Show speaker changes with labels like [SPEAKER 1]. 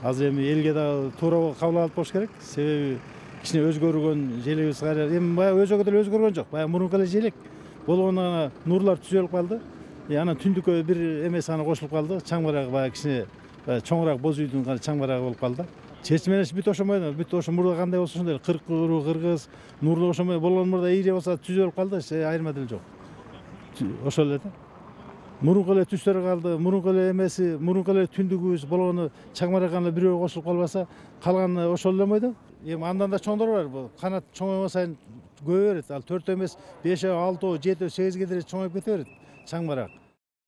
[SPEAKER 1] азыр эми элге дагы туура кабыл алып болуш керек. Себеби кичине өзгөргөн желегибиз кайра эми баягы өзөгө деле өзгөргөн жок. Баягы мурунку эле желек болгондо нурлар түзөлүп калды. Анан түндүккө бир эмеси гана кошулуп калды. Чаң барагы баягы кичине чоңураак боз үйдүн чаң барагы болуп калды. Чечим менен бүт ошомой, бүт ошо мурда кандай болсо ошондой эле кыркыруу, кыргыз, нурлу ошомой болгон мурда ийре болсо түзөлүп калды, айырма деле жок. Ошол эле да. Мурунку эле түстөрү калды, мурунку эле эмеси, мурунку эле түндүгүбүз болгону чаң барак гана бирөө кошулуп калбаса, калганы ошол эле мойдо. Эми андан да чоңдор бар. Бул канат чоңойгон сайын көбөйө берет. Ал 4 эмес, 5, 6, 7, 8ге деле чоңоюп кете берет чаң барак.